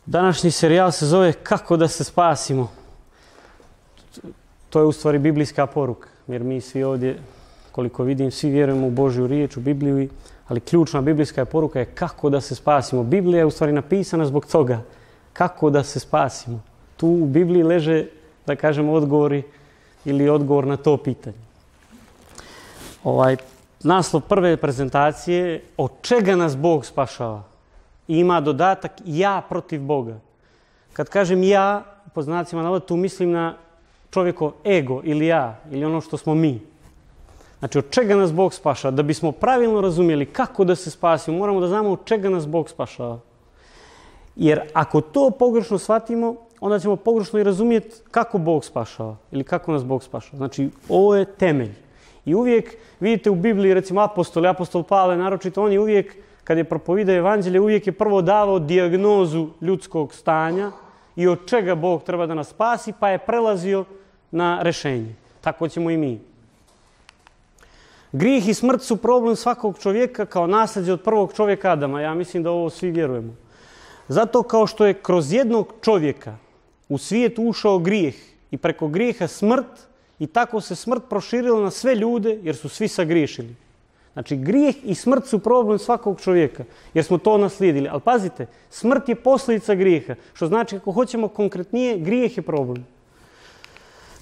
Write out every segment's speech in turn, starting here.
Današnji serijal se zove Kako da se spasimo. To je u stvari biblijska poruka, jer mi svi ovdje, koliko vidim, svi vjerujemo u Božju riječ, u Bibliju, ali ključna biblijska poruka je kako da se spasimo. Biblija je u stvari napisana zbog toga. Kako da se spasimo. Tu u Bibliji leže, da kažemo, odgovori ili odgovor na to pitanje. Naslov prve prezentacije, od čega nas Bog spašava? I ima dodatak ja protiv Boga. Kad kažem ja, po znacima navoda, tu mislim na čovjekov ego ili ja, ili ono što smo mi. Znači, od čega nas Bog spašava? Da bismo pravilno razumjeli kako da se spasimo, moramo da znamo od čega nas Bog spašava. Jer ako to pogrešno shvatimo, onda ćemo pogrešno i razumjeti kako Bog spašava ili kako nas Bog spašava. Znači, ovo je temelj. I uvijek vidite u Bibliji, recimo apostol Pavle naročito, on je uvijek, kad je propovidao evanđelje, uvijek je prvo davao dijagnozu ljudskog stanja i od čega Bog treba da nas spasi, pa je prelazio na rješenje. Tako ćemo i mi. Grijeh i smrt su problem svakog čovjeka kao nasljeđe od prvog čovjeka Adama. Ja mislim da ovo svi vjerujemo. Zato kao što je kroz jednog čovjeka u svijet ušao grijeh i preko grijeha smrt, i tako se smrt proširila na sve ljude jer su svi sagriješili. Znači, grijeh i smrt su problem svakog čovjeka jer smo to naslijedili. Ali pazite, smrt je posljedica grijeha, što znači, ako hoćemo konkretnije, grijeh je problem.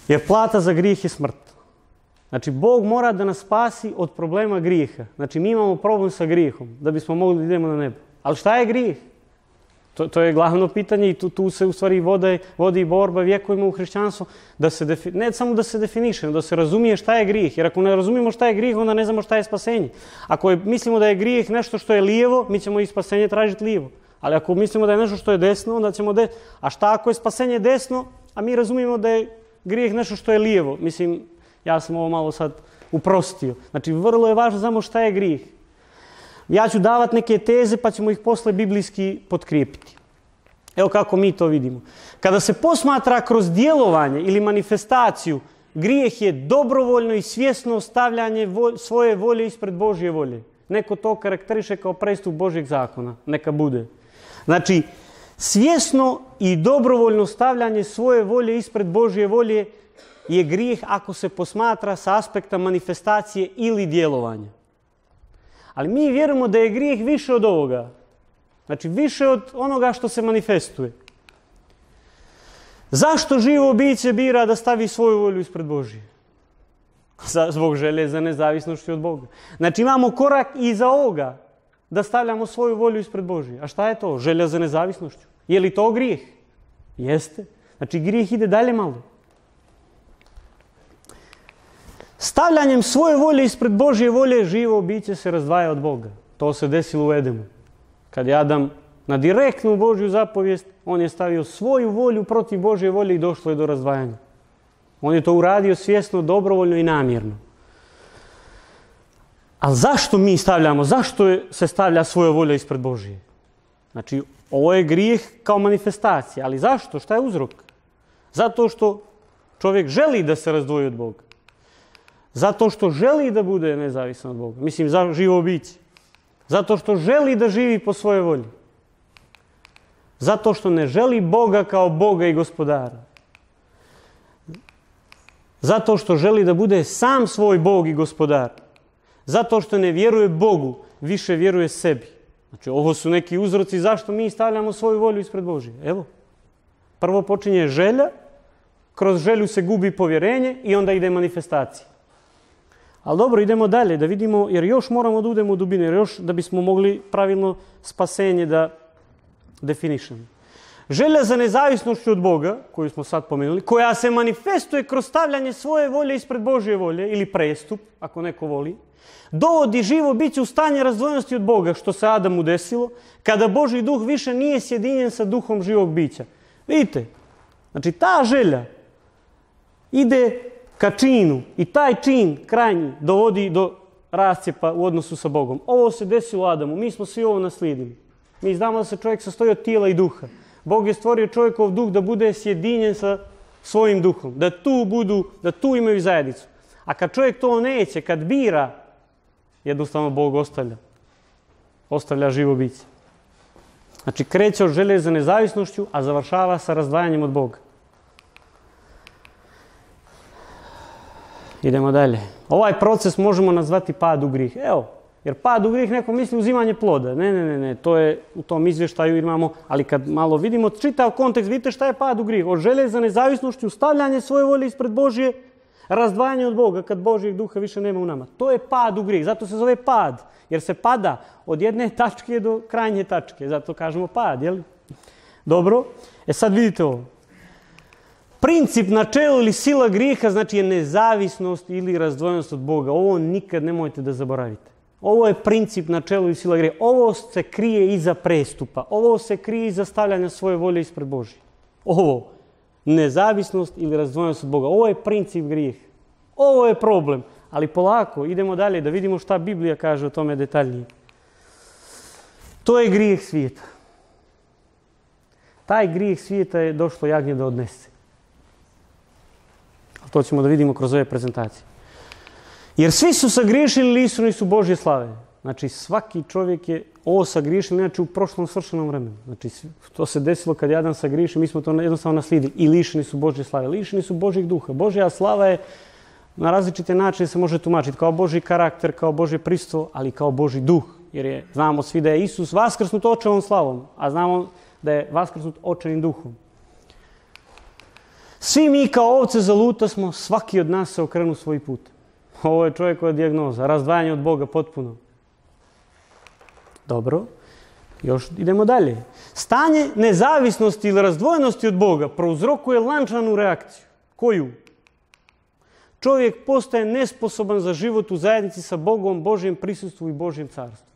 Jer plata za grijeh je smrt. Znači, Bog mora da nas spasi od problema grijeha. Znači, mi imamo problem sa grijehom da bismo mogli da idemo na nebo. Ali šta je grijeh? To je glavno pitanje i tu se u stvari vodi borba vjekovima u hrišćanstvu, ne samo da se definiše, nego da se razumije šta je grijeh. Jer ako ne razumijemo šta je grijeh, onda ne znamo šta je spasenje. Ako mislimo da je grijeh nešto što je lijevo, mi ćemo i spasenje tražiti lijevo. Ali ako mislimo da je nešto što je desno, onda ćemo A šta ako je spasenje desno, a mi razumijemo da je grijeh nešto što je lijevo? Mislim, ja sam ovo malo sad uprostio. Znači, vrlo je važno znamo šta je grijeh. Ja ću davati neke teze pa ćemo ih posle biblijski potkrijepiti. Evo kako mi to vidimo. Kada se posmatra kroz djelovanje ili manifestaciju, grijeh je dobrovoljno i svjesno stavljanje svoje volje ispred Božje volje. Neko to karakteriše kao prestup Božjeg zakona. Neka bude. Znači, svjesno i dobrovoljno stavljanje svoje volje ispred Božje volje je grijeh ako se posmatra sa aspekta manifestacije ili djelovanja. Ali mi vjerujemo da je grijeh više od ovoga. Znači, više od onoga što se manifestuje. Zašto živo biće bira da stavi svoju volju ispred Božje? Zbog želje za nezavisnošću od Boga. Znači, imamo korak iza ovoga da stavljamo svoju volju ispred Božje. A šta je to? Želja za nezavisnošću. Je li to grijeh? Jeste. Znači, grijeh ide dalje malo. Stavljanjem svoje volje ispred Božje volje živo biće se razdvaja od Boga. To se desilo u Edemu. Kad je Adam na direktnu Božju zapovijest, on je stavio svoju volju protiv Božje volje i došlo je do razdvajanja. On je to uradio svjesno, dobrovoljno i namjerno. Ali zašto mi stavljamo? Zašto se stavlja svoja volja ispred Božje? Znači, ovo je grijeh kao manifestacija. Ali zašto? Šta je uzrok? Zato što čovjek želi da se razdvoji od Boga. Zato što želi da bude nezavisan od Boga. Mislim, za živo biće. Zato što želi da živi po svojoj volji. Zato što ne želi Boga kao Boga i gospodara. Zato što želi da bude sam svoj Bog i gospodar. Zato što ne vjeruje Bogu, više vjeruje sebi. Znači, ovo su neki uzroci zašto mi stavljamo svoju volju ispred Božje. Evo, prvo počinje želja, kroz želju se gubi povjerenje i onda ide manifestacija. Ali dobro, idemo dalje da vidimo, jer još moramo da udemo u dubinu, jer još da bismo mogli pravilno spasenje da definišemo. Želja za nezavisnošću od Boga, koju smo sad pomenuli, koja se manifestuje kroz stavljanje svoje volje ispred Božje volje, ili prestup, ako neko voli, dovodi živo biće u stanje razdvojenosti od Boga, što se Adamu desilo, kada Božji duh više nije sjedinjen sa duhom živog bića. Vidite, znači ta želja ide ka činu i taj čin krajnji dovodi do rascjepa u odnosu sa Bogom. Ovo se desilo Adamu, mi smo svi ovo naslijedili. Mi znamo da se čovjek sastoji od tijela i duha. Bog je stvorio čovjekov duh da bude sjedinjen sa svojim duhom, da tu imaju zajednicu. A kad čovjek to neće, kad bira, jednostavno Bog ostavlja živo biće. Znači, kreće od želje za nezavisnošću, a završava sa razdvajanjem od Boga. Idemo dalje. Ovaj proces možemo nazvati pad u grijeh. Evo, jer pad u grijeh neko misli uzimanje ploda. Ne. To je u tom izvještaju imamo, ali kad malo vidimo čitav kontekst, vidite šta je pad u grijeh. Od želje za nezavisnošću, stavljanje svoje volje ispred Božje, razdvajanje od Boga kad Božjeg duha više nema u nama. To je pad u grijeh. Zato se zove pad. Jer se pada od jedne tačke do krajnje tačke. Zato kažemo pad, jel? Dobro. Sad vidite ovo. Princip, načelo ili sila grijeha znači je nezavisnost ili razdvojenost od Boga. Ovo nikad nemojte da zaboravite. Ovo je princip, načelo i sila grijeha. Ovo se krije iza prestupa. Ovo se krije iza stavljanja svoje volje ispred Božje. Ovo. Nezavisnost ili razdvojenost od Boga. Ovo je princip grijeha. Ovo je problem. Ali polako, idemo dalje da vidimo šta Biblija kaže o tome detaljnije. To je grijeh svijeta. Taj grijeh svijeta je došlo jagnje da odnese. To ćemo da vidimo kroz ove prezentacije. Jer svi su sagriješili lišeni su Božje slave. Znači svaki čovjek je ovo sagriješili, inače u prošlom svršenom vremenu. Znači to se desilo kad je Adam sagriješi, mi smo to jednostavno naslijedili. I lišeni su Božje slave. Lišeni su Božjeg duha. Božja slava je na različite načine se može tumačiti. Kao Božji karakter, kao Božje pristvo, ali kao Božji duh. Jer znamo svi da je Isus vaskrsnut očevom slavom, a znamo da je vaskrsnut očevim duhom. Svi mi kao ovce zaluta smo, svaki od nas se okrenu svoj put. Ovo je čovjekova dijagnoza, razdvajanje od Boga potpuno. Dobro, još idemo dalje. Stanje nezavisnosti ili razdvojenosti od Boga prouzrokuje lančanu reakciju. Koju? Čovjek postaje nesposoban za život u zajednici sa Bogom, Božjem prisustvu i Božjem carstvu.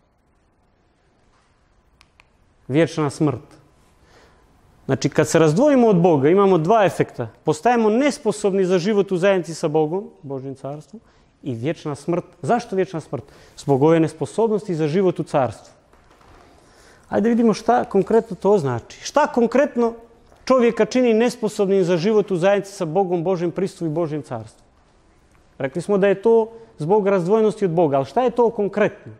Vječna smrt. Znači, kad se razdvojimo od Boga, imamo dva efekta. Postajemo nesposobni za život u zajednici sa Bogom, Božjim carstvom, i vječna smrt. Zašto vječna smrt? Zbog ove nesposobnosti za život u carstvu. Ajde vidimo šta konkretno to znači. Šta konkretno čovjeka čini nesposobnim za život u zajednici sa Bogom, Božjim prisustvom i Božjim carstvom? Rekli smo da je to zbog razdvojenosti od Boga, ali šta je to konkretno?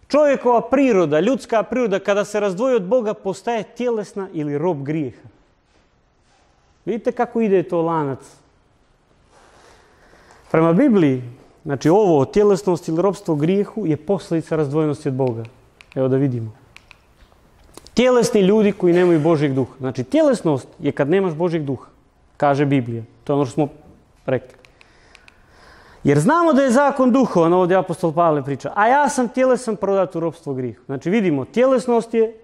Čovjekova priroda, ljudska priroda, kada se razdvoji od Boga, postaje tjelesna ili rob grijeha. Vidite kako ide to lanac? Prema Bibliji, znači ovo, tjelesnost ili robstvo grijehu, je posljedica razdvojenosti od Boga. Evo da vidimo. Tjelesni ljudi koji nemaju Božjeg duha. Znači, tjelesnost je kad nemaš Božjeg duha, kaže Biblija. To je ono što smo rekli. Jer znamo da je zakon duhovan, ovdje apostol Pavle priča, a ja sam tjelesan prodat u ropstvo grijehu. Znači vidimo, tjelesnost je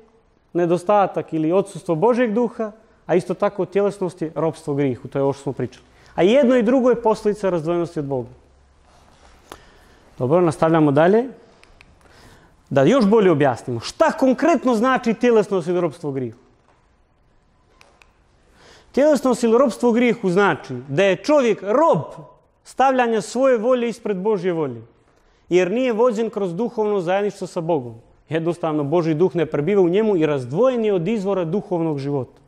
nedostatak ili odsustvo Božjeg duha, a isto tako tjelesnost je ropstvo grijehu, to je ovo što smo pričali. A jedno i drugo je posljedica razdvojenosti od Boga. Dobro, nastavljamo dalje. Da još bolje objasnimo, šta konkretno znači tjelesnost ili ropstvo grijehu? Tjelesnost ili ropstvo grijehu znači da je čovjek rob stavljanja svoje volje ispred Božje volje. Jer nije vođen kroz duhovno zajedništvo sa Bogom. Jednostavno, Božji duh ne prebiva u njemu i razdvojen je od izvora duhovnog života.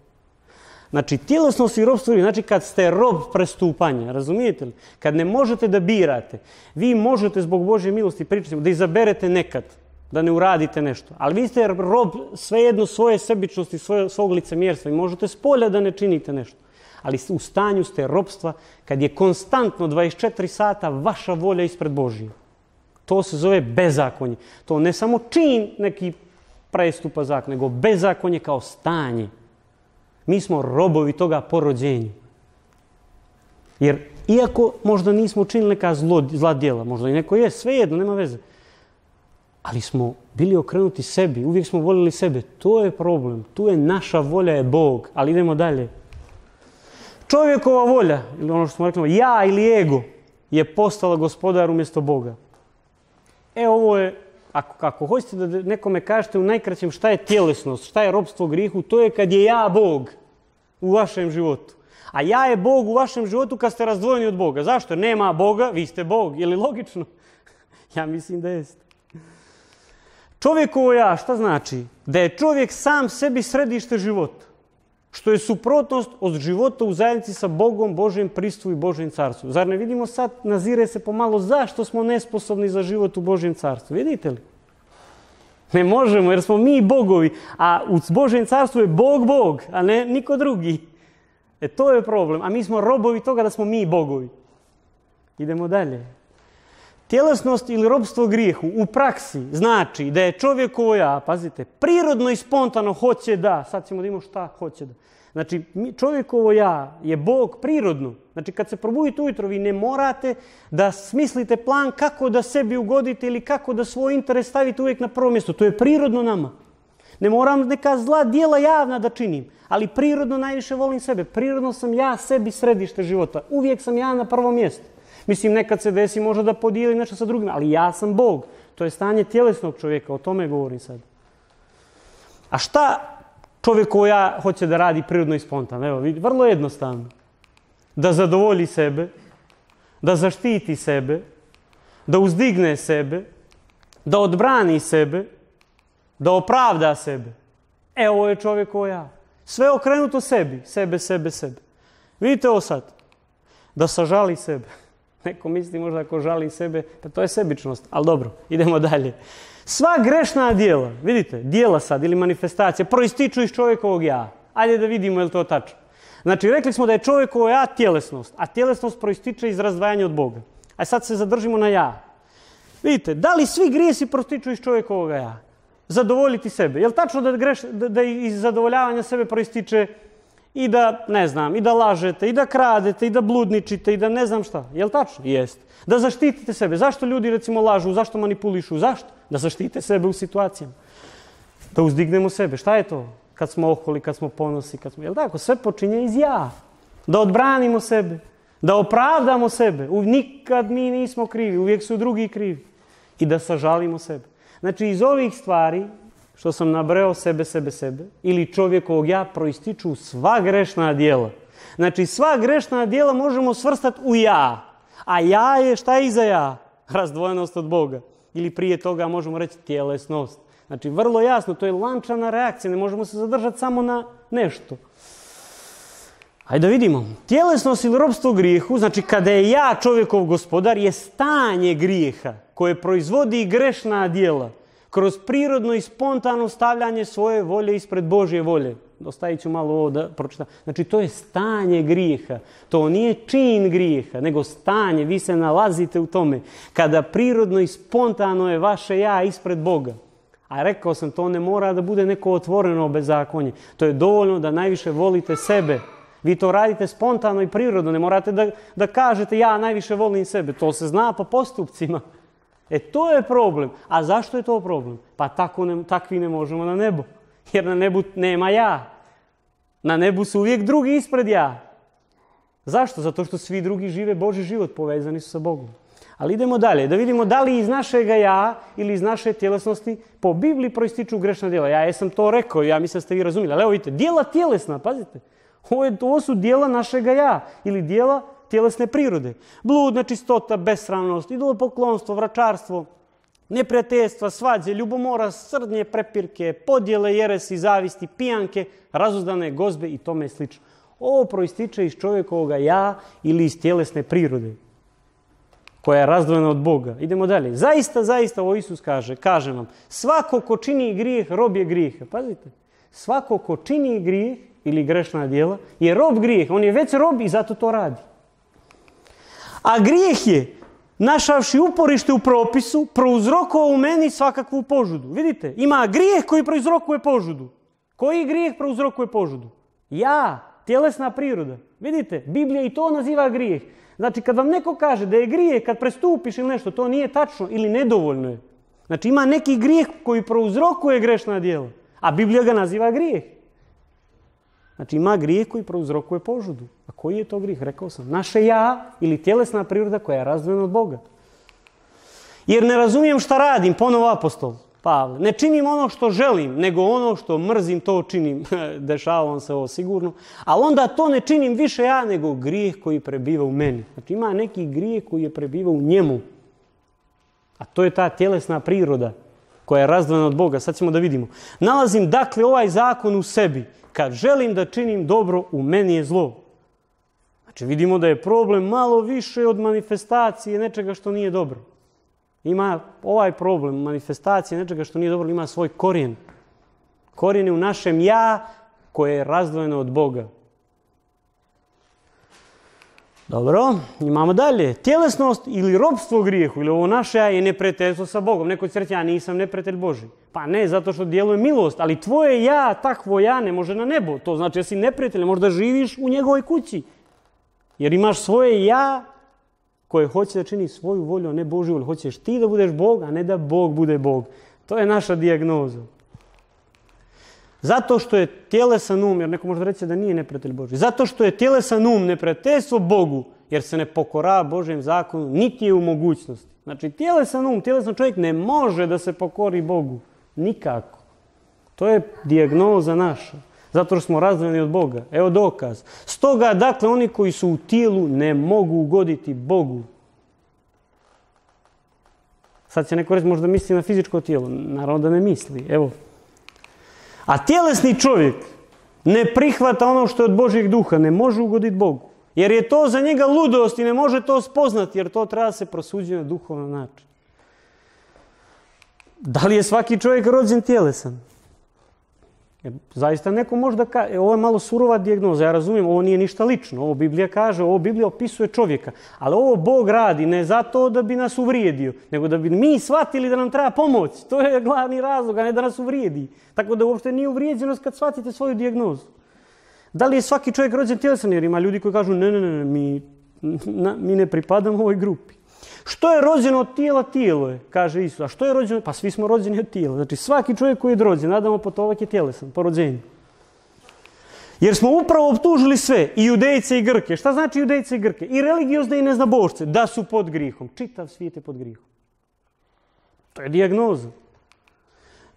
Znači, tjelesnost i robstvo, znači kad ste rob prestupanja, razumijete li? Kad ne možete da birate, vi možete zbog Božje milosti, pričati, da izaberete nekad, da ne uradite nešto. Ali vi ste rob svejedno svoje sebičnosti, svog licemjerstva i možete s polja da ne činite nešto. Ali u stanju ste robstva kad je konstantno 24 sata vaša volja ispred Božije. To se zove bezakonje. To ne samo čin neki prestupa zakona, nego bezakonje kao stanje. Mi smo robovi toga po rođenju. Jer iako možda nismo činili neka zla djela, možda i neko je, svejedno, nema veze. Ali smo bili okrenuti sebi, uvijek smo voljeli sebe. To je problem. Tu je naša volja je Bog. Ali idemo dalje. Čovjekova volja, ili ono što smo rekli, ja ili ego, je postala gospodar umjesto Boga. Ovo je, ako hoćete da nekome kažete u najkraćem šta je tjelesnost, šta je robstvo grijehu, to je kad je ja Bog u vašem životu. A ja je Bog u vašem životu kad ste razdvojeni od Boga. Zašto? Nema Boga, vi ste Bog. Je li logično? Ja mislim da jeste. Čovjekovo ja, šta znači? Da je čovjek sam sebi središte života. Što je suprotnost od života u zajednici sa Bogom, Božjem pristvu i Božjem carstvu. Zar ne vidimo sad, nazire se pomalo zašto smo nesposobni za život u Božjem carstvu? Vidite li? Ne možemo jer smo mi bogovi, a u Božjem carstvu je Bog Bog, a ne niko drugi. To je problem, a mi smo robovi toga da smo mi bogovi. Idemo dalje. Tjelesnost ili robstvo grijehu u praksi znači da je čovjekovo ja, pazite, prirodno i spontano hoće da, sad ćemo da imamo šta hoće da. Znači, čovjekovo ja je Bog prirodno. Znači, kad se probudite ujutro, vi ne morate da smislite plan kako da sebi ugodite ili kako da svoj interes stavite uvijek na prvo mjesto. To je prirodno nama. Ne moram neka zla djela javna da činim, ali prirodno najviše volim sebe. Prirodno sam ja sebi središte života. Uvijek sam ja na prvom mjestu. Mislim, nekad se desi možda da podijelim nešto sa drugima, ali ja sam Bog. To je stanje tjelesnog čovjeka, o tome govorim sad. A šta čovjekovo ja hoće da radi prirodno i spontano? Evo, vidi, vrlo jednostavno. Da zadovolji sebe, da zaštiti sebe, da uzdigne sebe, da odbrani sebe, da opravda sebe. Ovo je čovjekovo ja. Sve okrenuto sebi, sebe. Vidite ovo sad. Da sažali sebe. Neko misli možda ako žali sebe, pa to je sebičnost. Ali dobro, idemo dalje. Sva grešna djela, vidite, djela sad ili manifestacije, proističu iz čovjekovog ja. Ajde da vidimo je li to tačno. Znači, rekli smo da je čovjekovo ja tjelesnost, a tjelesnost proističe iz razdvajanja od Boga. A sad se zadržimo na ja. Vidite, da li svi grijesi proističu iz čovjekovog ja? Zadovoljiti sebe. Je li tačno da iz zadovoljavanja sebe proističe i da, ne znam, i da lažete, i da kradete, i da bludničite, i da ne znam šta? Je li tačno? Jest. Da zaštitite sebe. Zašto ljudi recimo lažu? Zašto manipulišu? Zašto? Da zaštite sebe u situacijama. Da uzdignemo sebe. Šta je to? Kad smo oholi, kad smo ponosi, kad smo... Jel' tako? Sve počinje iz ja. Da odbranimo sebe. Da opravdamo sebe. Nikad mi nismo krivi. Uvijek su drugi krivi. I da sažalimo sebe. Znači, iz ovih stvari, što sam nabreo sebe, ili čovjekovog ja, proističu sva grešna djela. Znači, sva grešna djela možemo svrstati u ja. A ja je, šta je iza ja? Razdvojenost od Boga. Ili prije toga možemo reći tjelesnost. Znači, vrlo jasno, to je lančana reakcija, ne možemo se zadržati samo na nešto. Hajde da vidimo. Tjelesnost ili robstvo grijehu, znači kada je ja čovjekov gospodar, je stanje grijeha koje proizvodi grešna djela kroz prirodno i spontano stavljanje svoje volje ispred Božje volje. Ostavit ću malo ovo da pročitam. Znači, to je stanje grijeha. To nije čin grijeha, nego stanje. Vi se nalazite u tome. Kada prirodno i spontano je vaše ja ispred Boga. A rekao sam, to ne mora da bude neko otvoreno bezakonje. To je dovoljno da najviše volite sebe. Vi to radite spontano i prirodno. Ne morate da kažete ja najviše volim sebe. To se zna po postupcima. To je problem. A zašto je to problem? Pa takvi ne možemo na nebo. Jer na nebu nema ja. Na nebu su uvijek drugi ispred ja. Zašto? Zato što svi drugi žive Božji život, povezani su sa Bogom. Ali idemo dalje, da vidimo da li iz našega ja ili iz naše tjelesnosti po Bibliji proističu grešna djela. Ja jesam to rekao, ja mislim da ste vi razumjeli. Ali evo vidite, djela tjelesna, pazite. Ovo su djela našega ja ili djela tjelesne prirode. Blud, nečistota, besramnost, idolopoklonstvo, vračarstvo, neprijateljstva, svađe, ljubomora, srdnje, prepirke, podjele, jeresi, zavisti, pijanke, razuzdane gozbe i tome slično. Ovo proističe iz čovjekovoga ja ili iz tjelesne prirode koja je razdvojena od Boga. Idemo dalje. Zaista, ovo Isus kaže vam, svako ko čini grijeh, rob je grijeha. Pazite, svako ko čini grijeh ili grešna djela je rob grijeha. On je već rob i zato to radi. A grijeh je, našavši uporište u propisu, prouzrokovao u meni svakakvu požudu. Vidite, ima grijeh koji prouzrokuje požudu. Koji grijeh prouzrokuje požudu? Ja, tjelesna priroda. Vidite, Biblija i to naziva grijeh. Znači, kad vam neko kaže da je grijeh kad prestupiš ili nešto, to nije tačno ili nedovoljno je. Znači, ima neki grijeh koji prouzrokuje grešna djela, a Biblija ga naziva grijeh. Znači, ima grijeh koji prouzrokuje požudu. A koji je to grijeh? Rekao sam, naše ja ili tjelesna priroda koja je razdvojena od Boga. Jer ne razumijem šta radim, ponovo apostol Pavle. Ne činim ono što želim, nego ono što mrzim, to činim. Dešava se ovo sigurno. Ali onda to ne činim više ja, nego grijeh koji prebiva u meni. Znači, ima neki grijeh koji je prebiva u njemu. A to je ta tjelesna priroda koja je razdvojena od Boga. Sad ćemo da vidimo. Nalazim, dakle, ovaj zakon u sebi. Kad želim da činim dobro, u meni je zlo. Znači, vidimo da je problem malo više od manifestacije nečega što nije dobro. Ima ovaj problem, manifestacija nečega što nije dobro, ima svoj korijen. Korijen je u našem ja koje je razdvojeno od Boga. Dobro, imamo dalje. Tjelesnost ili robstvo grijehu, ili ovo naše ja je neprijateljstvo sa Bogom. Neko će reći, ja nisam neprijatelj Boži. Pa ne, zato što djeluje milost, ali tvoje ja, takvo ja, ne može na nebo. To znači da si neprijatelj, možda živiš u njegovoj kući. Jer imaš svoje ja koje hoće da čini svoju volju, a ne Božju volju. Hoćeš ti da budeš Bog, a ne da Bog bude Bog. To je naša dijagnoza. Zato što je tjelesan jer neko može reći da nije neprijatelj Božji. Zato što je tjelesan neprijateljstvo Bogu, jer se ne pokorava Božjem zakonu, niti je u mogućnosti. Znači, tjelesan čovjek ne može da se pokori Bogu. Nikako. To je dijagnoza naša. Zato što smo razdvojeni od Boga. Evo dokaz. Stoga, dakle, oni koji su u tijelu ne mogu ugoditi Bogu. Sad će neko reći, možda misli na fizičko tijelo. Naravno da ne misli. Evo. A tjelesni čovjek ne prihvata ono što je od Božjeg duha, ne može ugoditi Bogu. Jer je to za njega ludost i ne može to spoznati, jer to treba se prosuđiti na duhovan način. Da li je svaki čovjek rođen tjelesan? Zaista neko može da kaže, ovo je malo surova dijagnoza, ja razumijem, ovo nije ništa lično, ovo Biblija kaže, ovo Biblija opisuje čovjeka, ali ovo Bog radi ne zato da bi nas uvrijedio, nego da bi mi shvatili da nam treba pomoć. To je glavni razlog, a ne da nas uvrijedi. Tako da uopšte nije uvrijeđenost kad shvatite svoju dijagnozu. Da li je svaki čovjek rođen tjelesan? Jer ima ljudi koji kažu ne, mi ne pripadamo ovoj grupi. Što je rođeno od tijela, tijelo je, kaže Isus. A što je rođeno? Pa svi smo rođeni od tijela. Znači svaki čovjek koji je rođen, Adamo potomak je tjelesan, po rođenju. Jer smo upravo optužili sve, i Judejce i Grke. Šta znači Judejce i Grke? I religiozne i neznabošce, da su pod grihom. Čitav svijet je pod grihom. To je dijagnoza.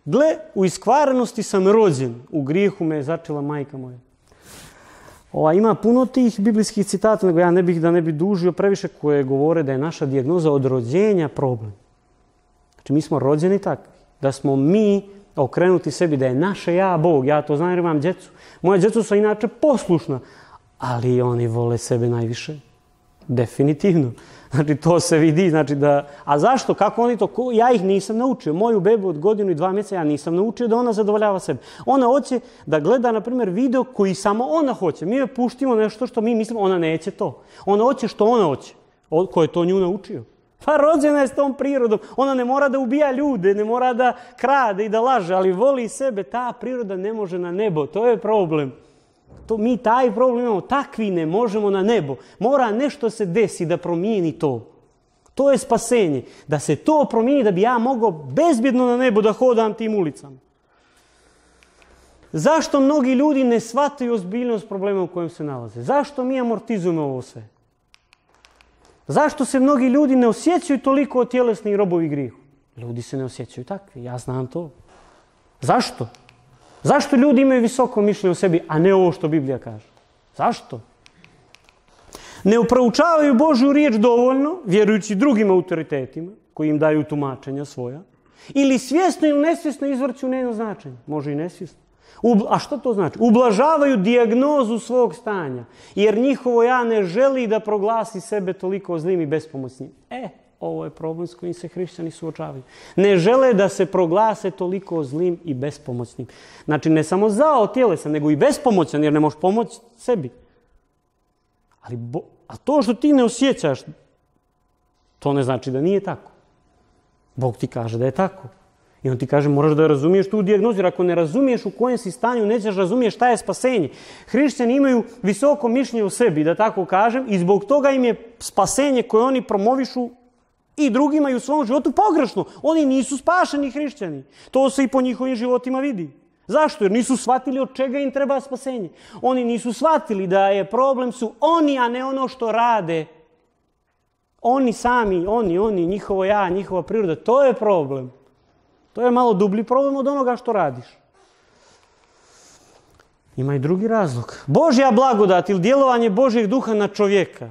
Gle, u iskvarenosti sam rođen, u grijehu me je začela majka moja. Ima puno tih biblijskih citata, nego ja ne bih dužio previše, koje govore da je naša dijagnoza od rođenja problem. Znači mi smo rođeni takvi, da smo mi okrenuti sebi, da je naše ja Bog. Ja to znam jer imam djecu. Moja djeca su inače poslušna, ali oni vole sebe najviše. Definitivno. Znači to se vidi. Znači da... A zašto? Kako oni to? Ja ih nisam naučio. Moju bebu od 1 godinu i 2 mjeseca ja nisam naučio da ona zadovoljava sebe. Ona hoće da gleda, na primjer, video koji samo ona hoće. Mi joj puštimo nešto što mi mislimo, ona neće to. Ona hoće što ona hoće. Ko je to nju naučio? Pa rođena je s tom prirodom. Ona ne mora da ubija ljude, ne mora da krade i da laže, ali voli sebe. Ta priroda ne može na nebo. To je problem. Mi taj problem imamo, takvi ne možemo na nebo. Mora nešto se desi da promijeni to. To je spasenje. Da se to promijeni, da bi ja mogao bezbjedno na nebo da hodam tim ulicama. Zašto mnogi ljudi ne shvataju ozbiljnost problema u kojem se nalaze? Zašto mi amortizujemo ovo sve? Zašto se mnogi ljudi ne osjećaju toliko tjelesni i robovi grijehu? Ljudi se ne osjećaju takvi, ja znam to. Zašto? Zašto ljudi imaju visoko mišljenje o sebi, a ne ovo što Biblija kaže? Zašto? Ne uproučavaju Božju riječ dovoljno, vjerujući drugim autoritetima, koji im daju tumačenja svoja, ili svjesno ili nesvjesno izvrću njeno značenje. Može i nesvjesno. A što to znači? Ublažavaju dijagnozu svog stanja, jer njihovo ja ne želi da proglasi sebe toliko zlim i bespomoćnim. Ovo je problem s kojim se hrišćani suočavaju. Ne žele da se proglase toliko zlim i bespomoćnim. Znači, ne samo zao tjelesan, nego i bespomoćan, jer ne možeš pomoći sebi. A to što ti ne osjećaš, to ne znači da nije tako. Bog ti kaže da je tako. I on ti kaže, moraš da razumiješ tu dijagnozu, jer ako ne razumiješ u kojem si stanju, nećeš razumiješ šta je spasenje. Hrišćani imaju visoko mišljenje o sebi, da tako kažem, i zbog toga im je spasenje koje oni promovišu i drugima i u svom životu pogrešno. Oni nisu spašeni hrišćani. To se i po njihovim životima vidi. Zašto? Jer nisu shvatili od čega im treba spasenje. Oni nisu shvatili da je problem su oni, a ne ono što rade. Oni sami, oni, njihovo ja, njihova priroda. To je problem. To je malo dublji problem od onoga što radiš. Ima i drugi razlog. Božja blagodat ili djelovanje Božjeg duha na čovjeka,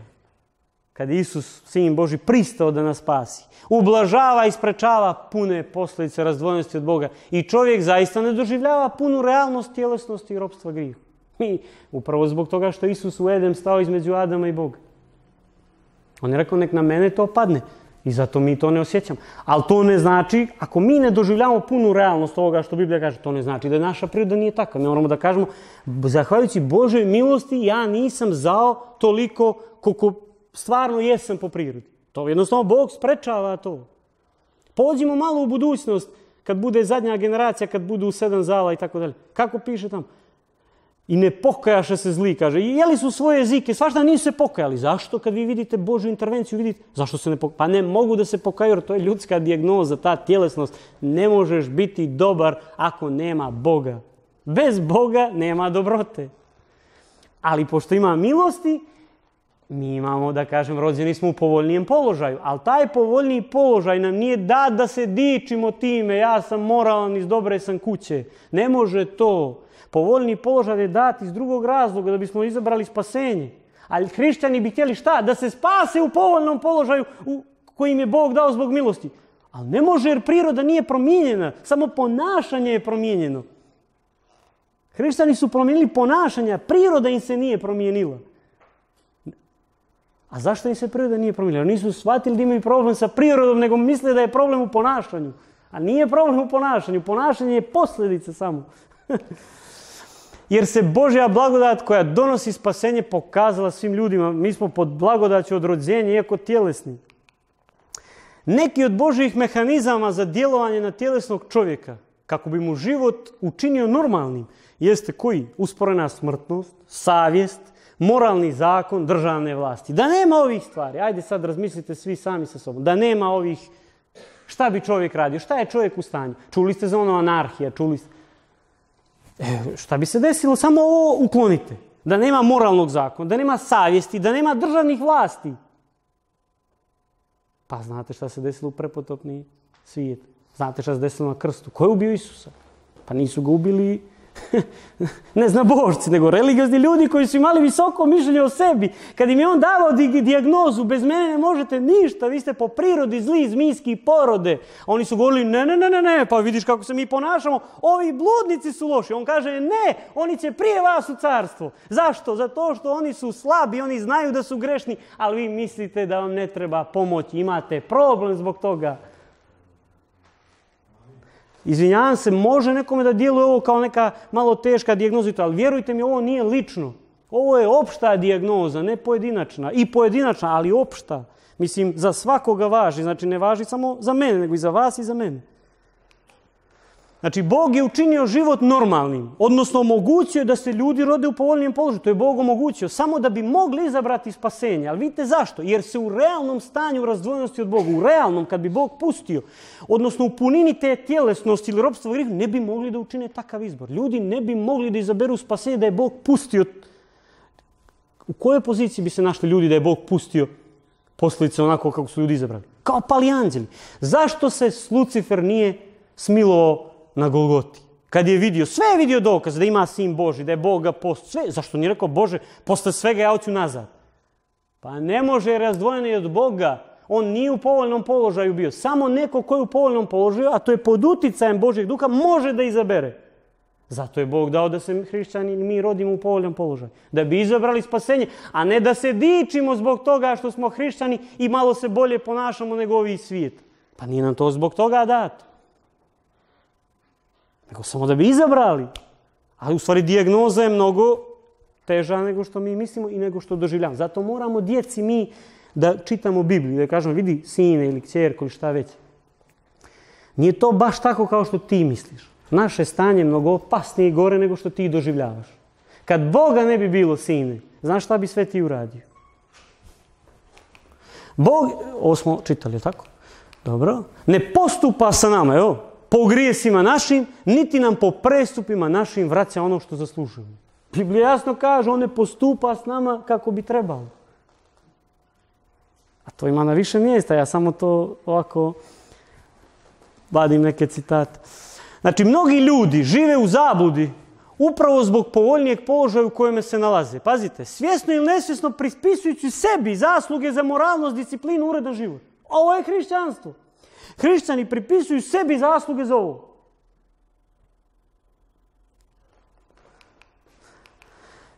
kad je Isus, Sin Božji, pristao da nas spasi, ublažava i sprečava pune posljedice razdvojenosti od Boga. I čovjek zaista ne doživljava punu realnost tjelesnosti i ropstva grijehu. Upravo zbog toga što Isus u Edem stao između Adama i Boga. On je rekao, nek na mene to padne. I zato mi to ne osjećamo. Ali to ne znači, ako mi ne doživljavamo punu realnost ovoga što Biblija kaže, to ne znači da naša priroda nije takva. Mi moramo da kažemo, zahvaljujući Božoj milosti, ja nisam zao toliko koliko stvarno jesam po prirodi. To jednostavno Bog sprečava to. Pođimo malo u budućnost, kad bude zadnja generacija, kad budu 7 zala i tako dalje. Kako piše tamo? I ne pokajaše se zli, kaže. I jeli su svoje jezike, svašta nisu se pokajali. Zašto? Kad vi vidite Božju intervenciju, vidite, zašto se ne pokajaju? Pa ne mogu da se pokaju, jer to je ljudska dijagnoza, ta tjelesnost. Ne možeš biti dobar ako nema Boga. Bez Boga nema dobrote. Ali pošto ima milosti, mi imamo, da kažem, rođeni smo u povoljnijem položaju. Ali taj povoljniji položaj nam nije dat da se dičimo time, ja sam moralan, iz dobre sam kuće. Ne može to. Povoljni položaj je dat iz drugog razloga, da bismo izabrali spasenje. Ali hrišćani bi htjeli šta? Da se spase u povoljnom položaju koji im je Bog dao zbog milosti. Ali ne može, jer priroda nije promijenjena. Samo ponašanje je promijenjeno. Hrišćani su promijenili ponašanja, priroda im se nije promijenila. A zašto im se priroda nije promijenila? Nisu shvatili da imaju problem sa prirodom, nego misle da je problem u ponašanju. A nije problem u ponašanju. Ponašanje je posljedica samo. Jer se Božja blagodat koja donosi spasenje pokazala svim ljudima. Mi smo pod blagodaću od rođenja, iako tjelesni. Neki od Božjih mehanizama za djelovanje na tjelesnog čovjeka, kako bi mu život učinio normalnim, jeste koji? Usporena smrtnost, savjest, moralni zakon, državne vlasti. Da nema ovih stvari, ajde sad razmislite svi sami sa sobom, da nema ovih, šta bi čovjek radio, šta je čovjek u stanju? Čuli ste za ono anarhija, čuli ste. Šta bi se desilo? Samo ovo uklonite. Da nema moralnog zakona, da nema savjesti, da nema državnih vlasti. Pa znate šta se desilo u prepotopni svijet? Znate šta se desilo na krstu? Ko je ubio Isusa? Pa nisu ga ubili neznabošci, nego religiozni ljudi koji su imali visoko mišljenje o sebi. Kad im je on davao dijagnozu, bez mene ne možete ništa, vi ste po prirodi zli, zmijski porode. A oni su govorili, ne, pa vidiš kako se mi ponašamo, ovi bludnici su loši. On kaže, ne, oni će prije vas u carstvo. Zašto? Zato što oni su slabi, oni znaju da su grešni, ali vi mislite da vam ne treba pomoć, imate problem zbog toga. Izvinjavam se, može nekome da djeluje ovo kao neka malo teška dijagnoza, ali vjerujte mi, ovo nije lično. Ovo je opšta dijagnoza, ne pojedinačna. I pojedinačna, ali opšta. Mislim, za svakoga važi. Znači, ne važi samo za mene, nego i za vas i za mene. Znači, Bog je učinio život normalnim. Odnosno, omogućio da se ljudi rode u povoljnijem položaju. To je Bog omogućio. Samo da bi mogli izabrati spasenje. Ali vidite zašto? Jer se u realnom stanju razdvojenosti od Boga, u realnom, kad bi Bog pustio, odnosno u punini te tjelesnosti ili ropstva grijeha, ne bi mogli da učine takav izbor. Ljudi ne bi mogli da izaberu spasenje da je Bog pustio. U kojoj poziciji bi se našli ljudi da je Bog pustio posljedice onako kako su ljudi izabrali? Kao pali anđeli. Zašto se Lucifer nije smilovao na Golgoti? Kad je vidio, sve je vidio dokaz da ima sin Božji, da je Bog ga postao. Sve, zašto nije rekao, Bože, posle svega ja hoću nazad? Pa ne može, razdvojeni od Boga. On nije u povoljnom položaju bio. Samo neko ko je u povoljnom položaju, a to je pod uticajem Božjeg duha, može da izabere. Zato je Bog dao da se hrišćani mi rodimo u povoljnom položaju. Da bi izabrali spasenje, a ne da se dičimo zbog toga što smo hrišćani i malo se bolje ponašamo nego ovi svijet. Pa nije nam to zbog toga dato. Nego samo da bi izabrali. Ali u stvari dijagnoza je mnogo teža nego što mi mislimo i nego što doživljamo. Zato moramo djeci mi da čitamo Bibliju, da kažemo, vidi sine ili kćerko ili šta već. Nije to baš tako kao što ti misliš. Naše stanje je mnogo opasnije i gore nego što ti doživljavaš. Kad Boga ne bi bilo, sine, znaš šta bi sve ti uradio? Bog, ovo smo čitali, tako? Dobro. Ne postupa sa nama, evo, po grijesima našim, niti nam po prestupima našim vraća ono što zaslužujemo. Biblija jasno kaže, on ne postupa s nama kako bi trebalo. A to ima na više mjesta, ja samo to ovako vadim neke citate. Znači, mnogi ljudi žive u zabludi upravo zbog povoljnijeg položaja u kojem se nalaze. Pazite, svjesno ili nesvjesno prispisujući sebi zasluge za moralnost, disciplinu, uredan život. Ovo je hrišćanstvo. Hrišćani pripisuju sebi zasluge za ovo.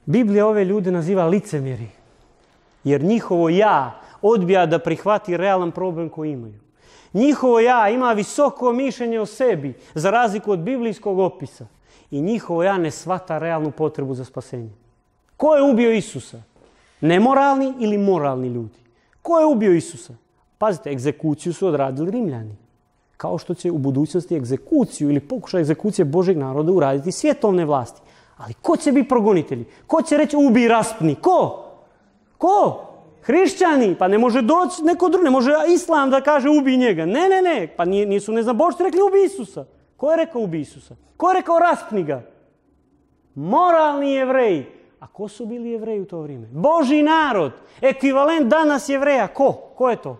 Biblija ove ljude naziva licemjeri. Jer njihovo ja odbija da prihvati realan problem koji imaju. Njihovo ja ima visoko mišljenje o sebi, za razliku od biblijskog opisa. I njihovo ja ne shvata realnu potrebu za spasenje. Ko je ubio Isusa? Nemoralni ili moralni ljudi? Ko je ubio Isusa? Pazite, egzekuciju su odradili Rimljani. Kao što će u budućnosti egzekuciju ili pokušaj egzekucije Božeg naroda uraditi svjetovne vlasti. Ali ko će biti progonitelji? Ko će reći ubi, raspni? Ko? Ko? Hrišćani. Pa ne može doći neko drugi. Ne može Islam da kaže ubi njega. Ne. Pa nisu neznabošci rekli ubi Isusa. Ko je rekao ubi Isusa? Ko je rekao raspni ga? Moralni Jevreji. A ko su bili Jevreji u to vrijeme? Božji narod. Ekvivalent danas Jevreja. Ko? Ko je to?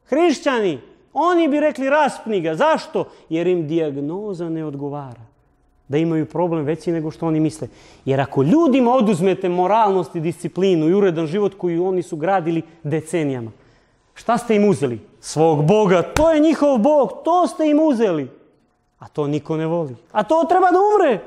Hrišćani. Oni bi rekli raspni ga. Zašto? Jer im dijagnoza ne odgovara. Da imaju problem veći nego što oni misle. Jer ako ljudima oduzmete moralnost i disciplinu i uredan život koji oni su gradili decenijama, šta ste im uzeli? Svog Boga. To je njihov Bog. To ste im uzeli. A to niko ne voli. A to treba da umre.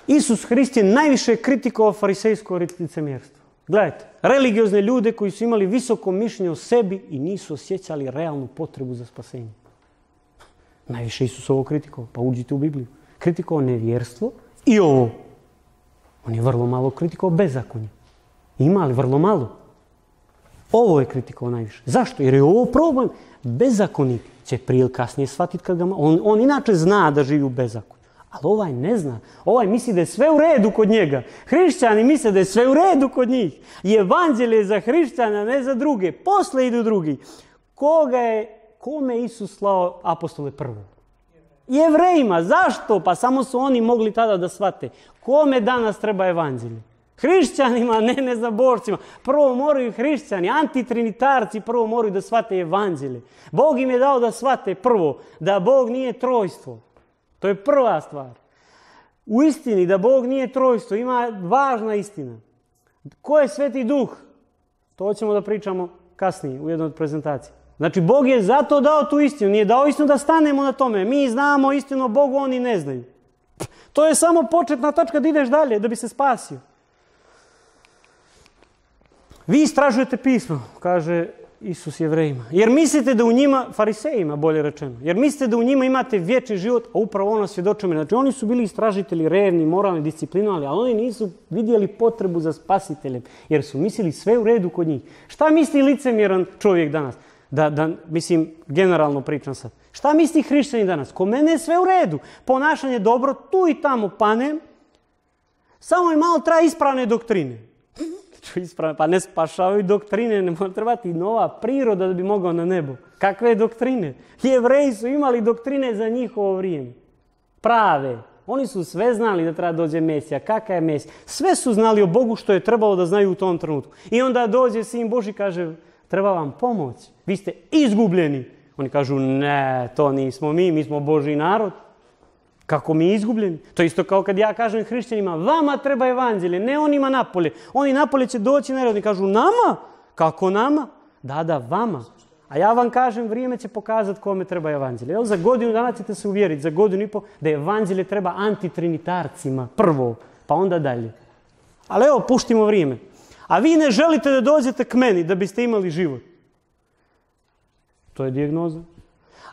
Isus Hrist je najviše kritikovao farisejsko licemjerstvo. Gledajte, religiozne ljude koji su imali visoko mišljenje o sebi i nisu osjećali realnu potrebu za spasenje. Najviše Isus ovo kritikovao. Pa uđite u Bibliju. Kritikovao nevjerstvo i ovo. On je vrlo malo kritikovao bezakonje. Ima li vrlo malo? Ovo je kritikovao najviše. Zašto? Jer je ovo problem. Bezakonik će prije ili kasnije shvatiti kad ga on inače zna da živi u bezakonju. Ali ovaj ne zna. Ovaj misli da je sve u redu kod njega. Hrišćani misle da je sve u redu kod njih. I evanđelje je za hrišćana, ne za druge. Posle idu drugi. Kome je Isus slao apostole prvo? Jevrejima. Zašto? Pa samo su oni mogli tada da shvate. Kome danas treba evanđelje? Hrišćanima, ne neznabošcima. Prvo moraju hrišćani, antitrinitarci prvo moraju da shvate evanđelje. Bog im je dao da shvate prvo da Bog nije trojstvo. To je prva stvar. U istini da Bog nije trojstvo ima važna istina. Ko je Sveti Duh? To ćemo da pričamo kasnije u jednoj od prezentacija. Znači Bog je zato dao tu istinu. Nije dao istinu da stanemo na tome. Mi znamo istinu o Bogu, oni ne znaju. To je samo početna tačka da ideš dalje, da bi se spasio. Vi istražujete pismo, kaže Isus Jevrejima. Jer mislite da u njima, farisejima bolje rečeno, jer mislite da u njima imate vječni život, a upravo ono svjedočimo. Znači oni su bili istražitelji, revni, moralni, disciplinovani, ali oni nisu vidjeli potrebu za spasiteljem, jer su mislili sve u redu kod njih. Šta misli licemjeran čovjek danas? Mislim, generalno pričam sad. Šta misli hrišćanin danas? Ko mene je sve u redu. Ponašanje dobro, tu i tamo panem, samo mi malo traje ispravne doktrine. Pa ne spašavaju doktrine, ne mora trebati nova priroda da bi mogao na nebo. Kakve doktrine? Jevreji su imali doktrine za njihovo vrijeme. Prave. Oni su sve znali da treba dođe Mesija. Kakav je Mesija? Sve su znali o Bogu što je trebalo da znaju u tom trenutku. I onda dođe Sin Božji i kaže, treba vam pomoć. Vi ste izgubljeni. Oni kažu, ne, to nismo mi smo Božji narod. Kako mi izgubljeni? To je isto kao kad ja kažem hrišćanima, vama treba evanđelje, ne onima napolje. Oni napolje će doći na red i kažu, nama? Kako nama? Da, vama. A ja vam kažem, vrijeme će pokazati kome treba evanđelje. Za godinu dana ćete se uvjeriti, za godinu i pol, da evanđelje treba antitrinitarcima prvo, pa onda dalje. Ali evo, puštimo vrijeme. A vi ne želite da dođete k meni da biste imali život. To je dijagnoza.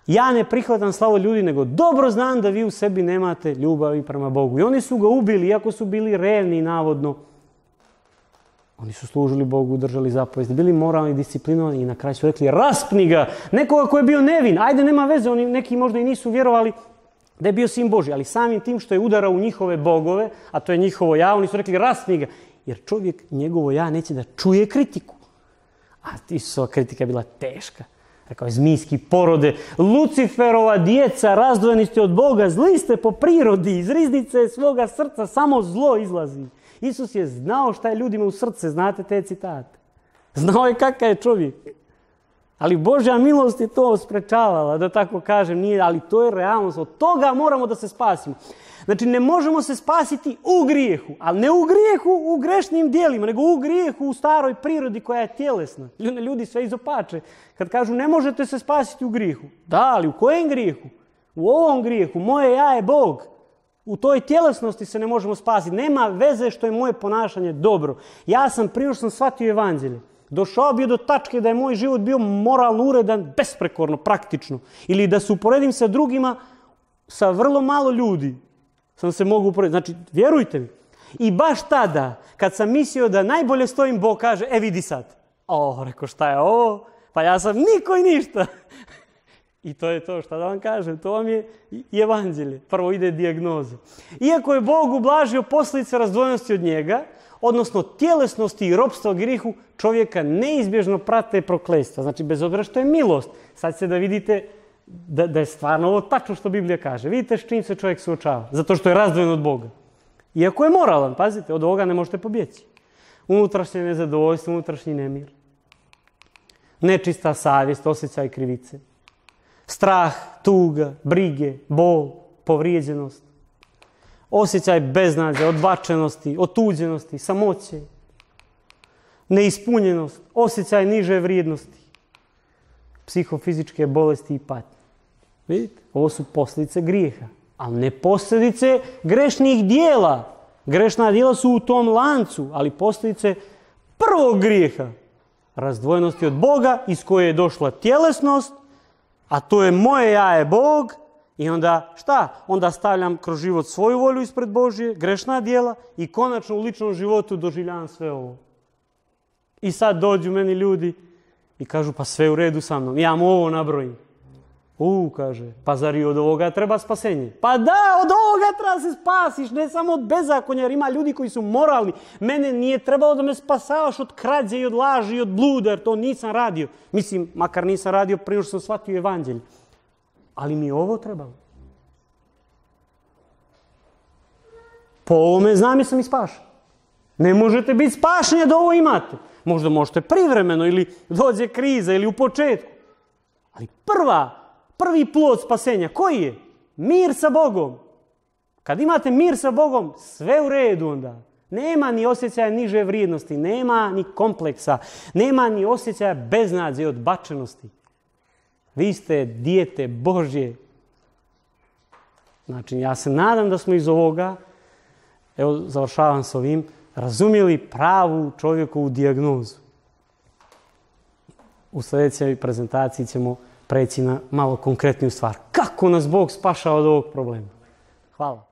Ja ne prihvatam slavu ljudi, nego dobro znam da vi u sebi nemate ljubavi prema Bogu. I oni su ga ubili, iako su bili revni navodno. Oni su služili Bogu, držali zapovesti, bili moralni, disciplinovani i na kraju su rekli raspni ga. Nekoga koji je bio nevin, ajde nema veze, oni neki možda i nisu vjerovali da je bio Sin Božji, ali samim tim što je udarao u njihove bogove, a to je njihovo ja, oni su rekli raspni ga. Jer čovjek, njegovo ja, neće da čuje kritiku. A Isusova kritika je bila teška. Rekao je, zmijski porode, Luciferova djeca, razdvojeni ste od Boga, zli ste po prirodi, iz riznice svoga srca samo zlo izlazi. Isus je znao šta je ljudima u srce, znate te citate. Znao je kakav je čovjek. Ali Božja milost je to sprečavala, da tako kažem, nije, ali to je realnost. Od toga moramo da se spasimo. Znači, ne možemo se spasiti u grijehu, ali ne u grijehu u grešnim dijelima, nego u grijehu u staroj prirodi koja je tjelesna. Ljudi sve izopače. Kad kažu ne možete se spasiti u grijehu. Da, ali u kojem grijehu? U ovom grijehu. Moje ja je Bog. U toj tjelesnosti se ne možemo spasiti. Nema veze što je moje ponašanje dobro. Ja sam prije što sam shvatio evanđelje. Došao bio do tačke da je moj život bio moralno uredan, besprekorno, praktično. Ili da se uporedim sa drugima, sa vrlo malo ljudi sam se mogu uporediti. Znači, vjerujte mi. I baš tada, kad sam mislio da najbolje stojim, Bog kaže, vidi sad. Rekao, šta je ovo? Pa ja sam niko i ništa. I to je to, šta da vam kažem, to vam je evanđelje. Prvo ide dijagnoza. Iako je Bog ublažio posljedice razdvojenosti od njega, odnosno tjelesnosti i ropstva grijehu, čovjeka neizbježno prate prokletstva. Znači, bez obzira što je milost. Sad se da vidite da je stvarno ovo tačno što Biblija kaže. Vidite s čim se čovjek suočava. Zato što je razdvojen od Boga. Iako je moralan, pazite, od ovoga ne možete pobjeći. Unutrašnje nezadovoljstvo, unutrašnji nemir. Nečista savjest, osjećaj krivice. Strah, tuga, brige, bol, povrijeđenost. Osjećaj beznadja, odbačenosti, otuđenosti, samoće. Neispunjenost, osjećaj niže vrijednosti. Psihofizičke bolesti i patnje. Vidite, ovo su posljedice grijeha, ali ne posljedice grešnih dijela. Grešna dijela su u tom lancu, ali posljedice prvog grijeha. Razdvojenosti od Boga, iz koje je došla tjelesnost, a to je moje ja je Bog. I onda šta? Onda stavljam kroz život svoju volju ispred Božje, grešna dijela i konačno u ličnom životu doživljavam sve ovo. I sad dođu meni ljudi i kažu, pa sve u redu sa mnom, ja mu ovo nabrojim. Kaže, pa zar i od ovoga treba spasenje? Pa da, od ovoga treba se spasiš, ne samo od bezakonja, jer ima ljudi koji su moralni. Mene nije trebalo da me spasavaš od krađe i od laži i od bluda, jer to nisam radio. Mislim, makar nisam radio prije što sam shvatio evanđelje. Ali mi je ovo trebalo. Po ovome znam sam i spašen. Ne možete biti spašeni da ovo imate. Možda možete privremeno ili dođe kriza ili u početku. Ali prvi plod spasenja, koji je? Mir sa Bogom. Kad imate mir sa Bogom, sve u redu onda. Nema ni osjećaja niže vrijednosti, nema ni kompleksa, nema ni osjećaja beznadze i odbačenosti. Vi ste dijete Božje. Znači, ja se nadam da smo iz ovoga, evo završavam s ovim, razumjeli pravu čovjekovu dijagnozu. U sljedećoj prezentaciji ćemo preći na malo konkretniju stvar. Kako nas Bog spašava od ovog problema? Hvala.